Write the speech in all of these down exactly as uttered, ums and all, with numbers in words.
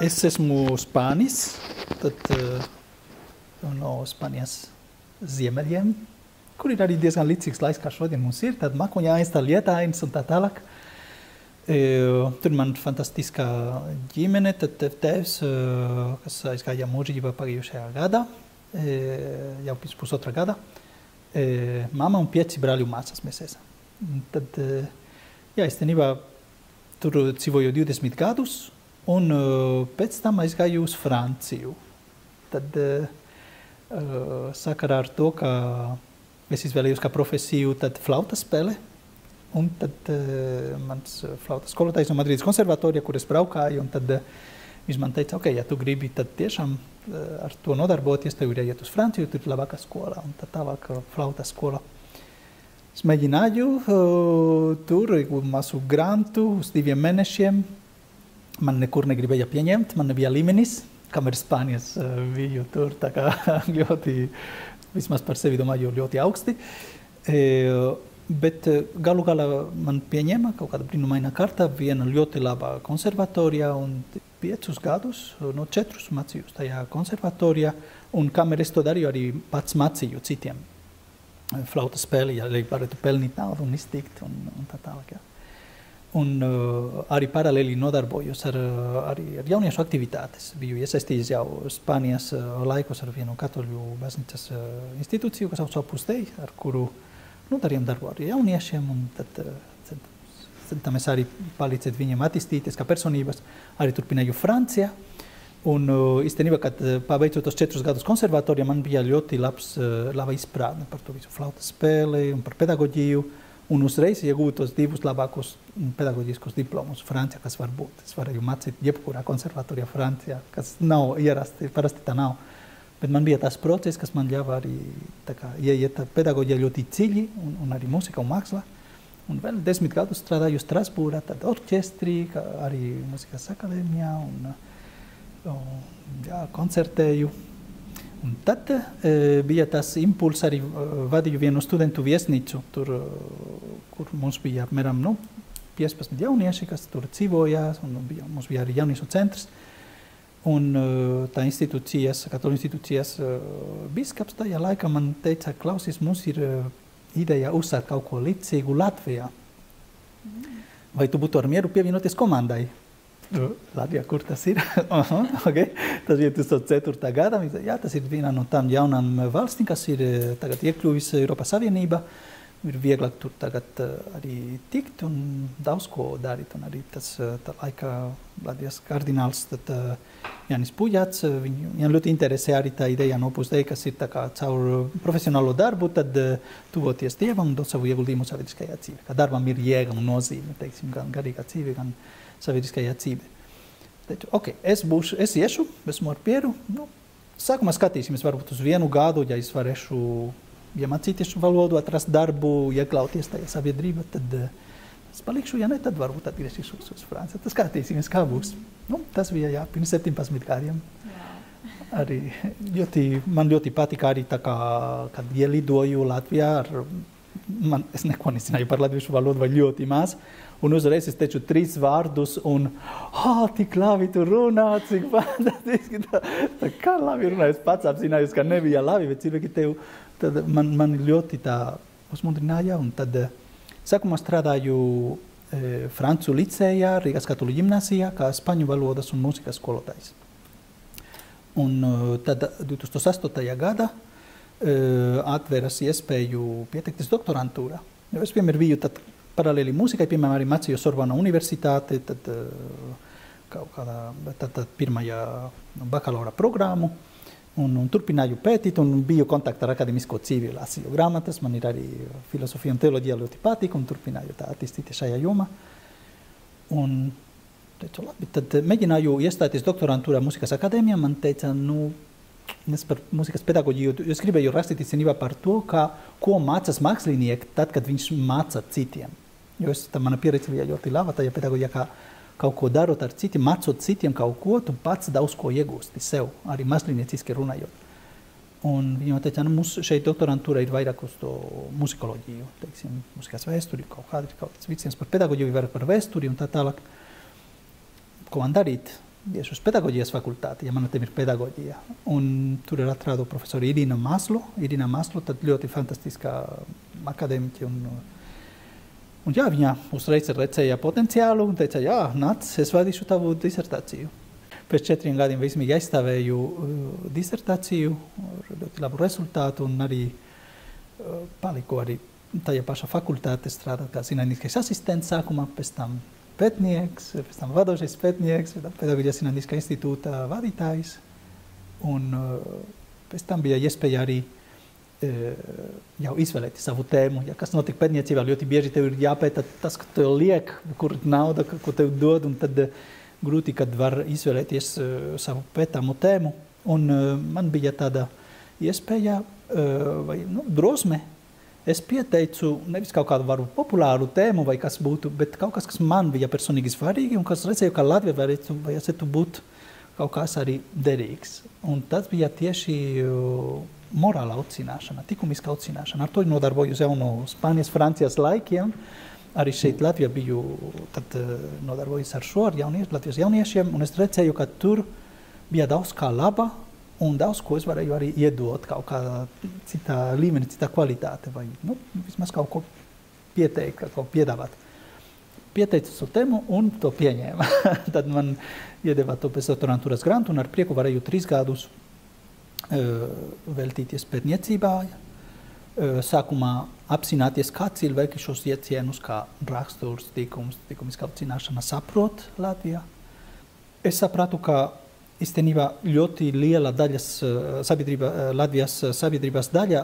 Es esmu Spānis, tad uh, no Spānijas ziemeļiem, kur ir arī diezgan līdzīgs laiks, kā šodien mums ir, tad makuņājas, tā lietainas un tā tālāk. E, tur man fantastiskā ģimene, tad tēvs, kas aizgāja mūžībā pagājušajā gadā, e, jau pēc pusotra gada. E, mama un pieci brāļu māsas mēs esam. Tad, e, jā, īstenībā tur dzīvoju divdesmit gadus, un uh, pēc tam aizgāju uz Franciju. Tad uh, sakarā ar to, ka es izvēlējos kā profesiju, tad flautas spēle, un tad uh, mans flautas skolotājs no Madrides konservatorija, kur es braukāju, un tad uh, viņš man teica, ok, ja tu gribi, tad tiešām uh, ar to nodarboties, tev ir jāiet uz Franciju, tur ir labākā skola, un tad tālāk flautas skola. Es mēģināju uh, tur mazu grantu uz diviem mēnešiem. Man nekur negribēja pieņemt, man nebija līmenis, kamēr Spānijas uh, biju tur, tā kā ļoti, vismaz par sevi domāju, ļoti augsti. E, bet galu galā man pieņēma kaut kāda brīnumaina kārta, viena ļoti laba konservatorija, un piecus gadus, no četrus mācījos tajā konservatorijā, un kamēr es to darīju, arī pats mācīju citiem flautas spēli, ja lai varētu pelnīt naudu un iztikt, un, un tā tālāk, jā. Un uh, arī paralēli nodarbojos ar, arī ar jauniešu aktivitātes. Biju iesaistījies jau Spānijas uh, laikos ar vienu katoļu baznīcas uh, institūciju, kas sauc Opus Dei, ar kuru nu, darījām darbu ar jauniešiem, un tad uh, centāmies arī palīdzēt viņiem attīstīties kā personības. Arī turpināju Francijā. Un uh, īstenībā, kad uh, pabeidzot tos četrus gadus konservatorijā, man bija ļoti labs, uh, laba izpratne par to visu flautas spēli un par pedagoģiju. Un uzreiz iegūt tos divus labākos pedagoģiskos diplomus Francijā, kas var būt. Es varēju mācīt jebkurā konservatorijā Francijā, kas nav ierasti, parasti tā nav. Bet man bija tas process, kas man ļāva arī tā kā ieiet pedagoģijā ļoti dziļi, un, un arī mūzika un māksla. Un vēl desmit gadus strādāju Strasbūrā, tad orķestrī, arī mūzikas akadēmijā, un, un jā, koncertēju. Un tad e, bija tas impulss, arī vadīju vienu studentu viesnīcu, tur, kur mums bija apmēram nu, piecpadsmit jaunieši, kas tur dzīvojās, un bija, mums bija arī jauniešu centrs. Un tā institūcijas, katoļu institūcijas biskaps tajā laikā man teica, klausies, mums ir ideja uzsākt kaut ko līdzīgu Latvijā. Vai tu būtu ar mieru pievienoties komandai? Latvijā, kur tas ir? Aha, okay. Tas ir dos mil ceturtā gada. Jā, tas ir viena no tām jaunām valstīm, kas ir tagad iekļuvis Eiropas Savienībā. Ir vieglāk tur tagad arī tikt un daudz ko darīt. Un arī tas tā laikā Latvijas kardināls tad, Jānis Pujats, viņu ļoti interesē arī tā ideja no Opus Dei, kas ir tā kā caur profesionālo darbu, tad tuvoties Dievam un dot savu ieguldījumu sabiedriskajā dzīvē. Kā darbam ir jēga un nozīme, teiksim, gan garīgā dzīve, gan sabiedriskajā dzīvē. Teicu, ok, es būšu, es iešu, esmu ar pieru. Nu, sākumā skatīsimies varbūt uz vienu gadu, ja es varēšu iemācīties valodu, atrast darbu, iekļauties tajā sabiedrībā, tad uh, es palikšu, ja ne, tad varbūt atgriezīšos uz Franciju. Tad skatīsimies, kā būs. Nu, tas bija, jā, pirms septiņpadsmit gadiem. Arī ļoti, man ļoti patika arī tā kā, kad ielidoju Latvijā, ar, man, es neko nezināju par latviešu valodu vai ļoti maz. Un uzreiz es teicu trīs vārdus, un ah, tik labi tu runā, cik fantastiski. Tā, tā kā labi runā, es pats apzinājos, ka nebija labi, bet cilvēki tev, tad man, man ļoti tā uzmundrināja. Un tad sākumā strādāju e, Francu licējā, Rīgas katoļu ģimnāzijā, kā spaņu valodas un mūzikas skolotājs. Un tad divtūkstoš astotajā gadā e, atveras iespēju pieteikties doktorantūrā. Jo es vienmēr biju tad paralēli mūzikai, piemēram, arī mācīju Sorbona universitāte, tad kaut kādā, tad, tad pirmajā bakalaura programmu, un, un turpināju pētīt, un biju kontaktā ar akademisko dzīvi, lasīju grāmatas, man ir arī filosofija un teoloģija ļoti patīk, un turpināju tā attīstīties šajā jomā. Un teicu, labi, tad mēģināju iestāties doktorantūrā mūzikas akadēmijā, man teica, nu, es par mūzikas pedagoģiju, es gribēju rakstīt īstenībā par to, kā, ko mācās mākslinieki tad, kad viņš māca citiem. Jo es, tā mana pieredze bija ļoti laba tajā pedagoģijā, kā kaut ko darot ar citiem, mācot citiem kaut ko, tu pats daudz ko iegūsti sev, arī mākslinieciski runājot. Un viņi teica, nu, mums šeit doktorantūra ir vairāk uz to muzikoloģiju, teiksim, mūzikas vēsturi, kaut kādi, kaut kāds viciens par pedagoģiju, vairāk par vēsturi un tā tālāk. Ko man darīt? iešu uz pedagoģijas fakultāti, ja mana tēma ir pedagoģija. Un tur ir atrādu profesoru Irina Maslo. Irina Maslo, tad ļoti fantastiskā akadēmiķi. Un, un jā, viņa uzreiz redzēja potenciālu un teica, jā, nāc, es vadīšu tavu disertāciju. Pēc četriem gadiem vismīgi aizstāvēju uh, disertāciju, ar ļoti labu rezultātu un arī uh, paliku arī tajā pašā fakultāte strādāt kā zinātniskais asistents sākumā, pēc tam pētnieks, pēc tam vadošais pētnieks, pēc tam Pedagoģijas zinātniskā institūta vadītājs. Un uh, pēc tam bija iespēja arī uh, jau izvēlēt savu tēmu. Ja kas notika pētniecībā, ļoti bieži tev ir jāpēta tas, ko tev liek, kur nauda, ko tev dod, un tad uh, grūti, kad var izvēlēties uh, savu pētāmu tēmu. Un uh, man bija tāda iespēja uh, vai nu, drosme. Es pieteicu nevis kaut kādu varu populāru tēmu vai kas būtu, bet kaut kas, kas man bija personīgi svarīgi un kas redzēju, ka Latvija varētu, vajadzētu būt kaut kas arī derīgs. Un tas bija tieši uh, morāla audzināšana, likumiska audzināšana. Ar to nodarbojos jau no Spānijas, Francijas laikiem. Arī šeit Latvijā biju tad, uh, nodarbojos ar šo, ar jaunie, Latvijas jauniešiem, un es redzēju, ka tur bija daudz kā laba, un daudz ko es varēju arī iedot kaut kādā citā līmenī, citā kvalitāte, vai nu, vismaz kaut ko pieteikt, kaut ko piedāvāt. Pieteicu šo tēmu un to pieņēma. Tad man iedeva to pēc doktorantūras grantu un ar prieku varēju trīs gadus uh, veltīties pētniecībā. Uh, sākumā apzināties, kā cilvēki šos iecienus, kā raksturs, tikums, tikumiskā audzināšana saprot Latvijā. Es sapratu, ka īstenībā ļoti liela daļas sabiedrība, Latvijas sabiedrības daļa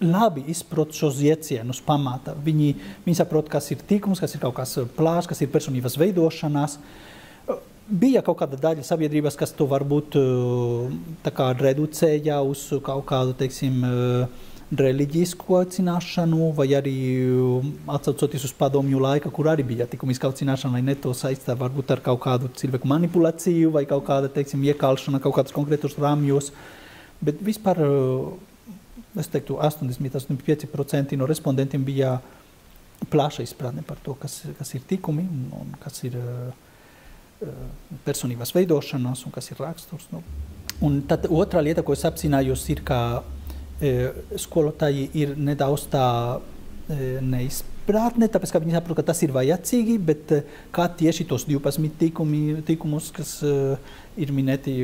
labi izprot šos iecienus pamata. Viņi, viņi saprot, kas ir tikums, kas ir kaut kas plāšs, kas ir personības veidošanās. Bija kaut kāda daļa sabiedrības, kas to varbūt tā kā reducēja uz kaut kādu, teiksim, reliģisku audzināšanu, vai arī atsaucoties uz padomju laika, kur arī bija likumiska audzināšana, lai ne to saistā varbūt ar kaut kādu cilvēku manipulāciju vai kaut kāda, teiksim, iekalšana kaut kādas konkrētos rāmjos. Bet vispār, es teiktu, astoņdesmit līdz astoņdesmit pieci procenti no respondentiem bija plaša izpratne par to, kas, kas ir tikumi un, un kas ir uh, personības veidošanās un kas ir raksturs. Nu. Un tad otrā lieta, ko es apzinājos, ir, ka skolotāji ir nedaudz tā neizpratne, tāpēc, ka viņi saprot, ka tas ir vajadzīgi, bet kā tieši tos divpadsmit tikumi, tikumus, kas ir minēti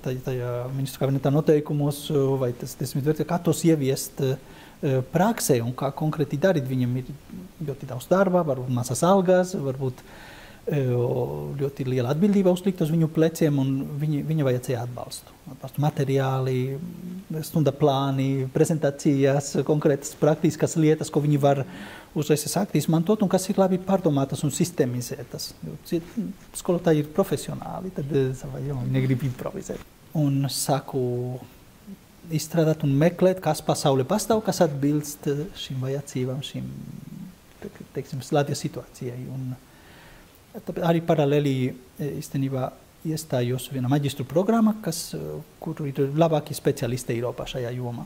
tajā ministru kabinetā noteikumos, vai tas desmit vērtības, kā tos ieviest praksē un kā konkrēti darīt. Viņam ir ļoti daudz darba, varbūt mazas algas, varbūt ļoti liela atbildība uzlikt uz viņu pleciem, un viņi, viņa vajadzēja atbalstu. Atbalstu materiāli, stunda plāni, prezentācijas, konkrētas praktiskas lietas, ko viņi var uzreiz sākt izmantot, un kas ir labi pārdomātas un sistemizētas. Skolotāji ir profesionāli, tad savā jomā negrib improvizēt. Un sāku izstrādāt un meklēt, kas pasaulē pastāv, kas atbilst šīm vajadzībām, šīm, teiksim, Latvijas situācijai. Un arī paralēli īstenībā iestājos vienā maģistru programmā, kas, kur ir labākie speciālisti Eiropā šajā jomā.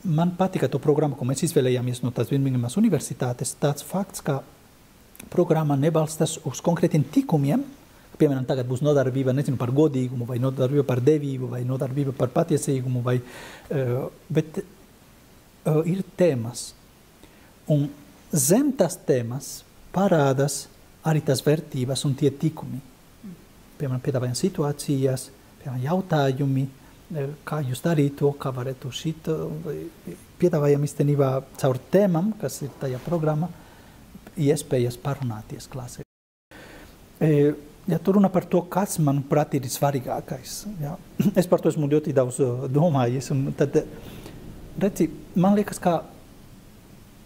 Man patika to programmu, ko mēs izvēlējāmies no tās Birmingemas universitātes, tāds fakts, ka programma nebalstas uz konkrētiem tikumiem, piemēram, tagad būs nodarbība, nezinu, par godīgumu, vai nodarbība par devību, vai nodarbība par patiesīgumu, vai, uh, bet uh, ir tēmas. Un zem tās tēmas parādās arī tās vērtības un tie tikumi. Piemēram, piedāvājam situācijas, piemēram, jautājumi, kā jūs darīt to, kā varētu šito. Piedāvājam īstenībā caur tēmām, kas ir tajā programmā, iespējas parunāties klasē. Ja tu runā par to, kas, manuprāt, ir svarīgākais. Ja? Es par to esmu ļoti daudz domājis. Un tad, redzi, man liekas, ka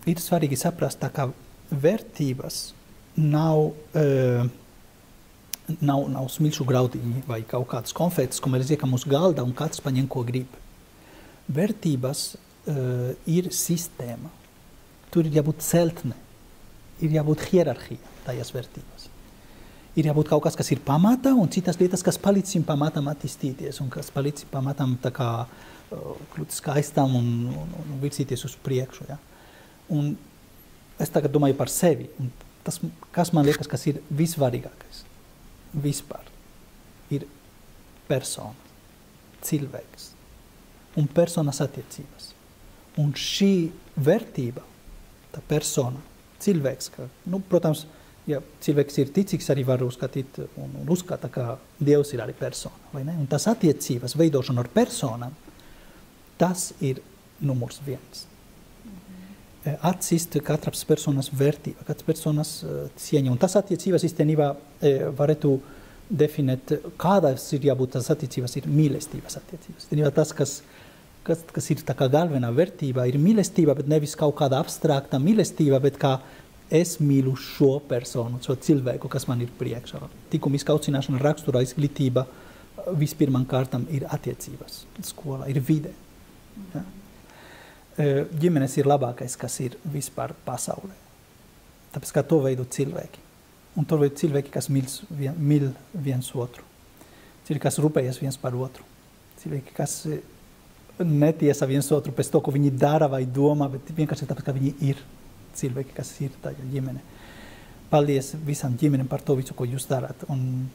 ir svarīgi saprast, tā kā vērtības nav, uh, nav, nav smilšu graudiņi vai kaut kādas konfetes, ko mēs liekam uz galda un katrs paņem, ko grib. Vērtības uh, ir sistēma. Tur ir jābūt celtne, ir jābūt hierarhija tajās vērtības. Ir jābūt kaut kas, kas ir pamatā, un citas lietas, kas palīdz šim pamatam attīstīties un kas palīdz šim pamatam tā kā uh, kļūt skaistam un, un, un virzīties uz priekšu. Ja? Un es tagad domāju par sevi. Un tas, kas man liekas, kas ir visvarīgākais vispār, ir persona, cilvēks un personas attiecības. Un šī vērtība, tā persona, cilvēks, ka, nu, protams, ja cilvēks ir ticīgs, arī var uzskatīt un, un uzskata, ka Dievs ir arī persona, vai ne? Un tas attiecības veidošana ar personām, tas ir numurs viens. Mm-hmm. Atzīst katras personas vērtība, katras personas uh, cieņa. Un tas attiecības īstenībā e, varētu definēt, kādas ir jābūt tas attiecības, ir mīlestības attiecības. Īstenībā tas, kas Kas, kas ir tā kā galvenā vērtība, ir mīlestība, bet nevis kaut kāda abstrakta mīlestība, bet kā es mīlu šo personu, šo cilvēku, kas man ir priekšā. Likumiskā audzināšana, rakstura, izglītība, vispirmām kārtām ir attiecības, skola, ir vide. Ja? Ģimenes ir labākais, kas ir vispār pasaulē. Tāpēc, ka to veido cilvēki. Un to veido cilvēki, kas mīl, vien, mīl viens otru. Cilvēki, kas rūpējas viens par otru. Cilvēki, kas netiesa viens otru pēc to, ko viņi dara vai domā, bet vienkārši tāpēc, ka viņi ir cilvēki, kas ir tajā ģimene. Paldies visam ģimenem par to visu, ko jūs darāt. Un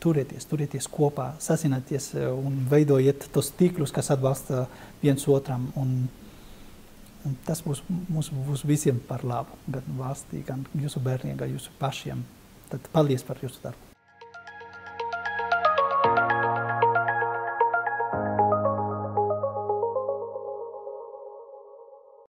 turieties, turieties kopā, sasināties un veidojiet tos tīklus, kas atbalsta viens otram. Un, un tas būs, mums būs visiem par labu, gan valstī, gan jūsu bērniem, gan jūsu pašiem. Tad paldies par jūsu darbu.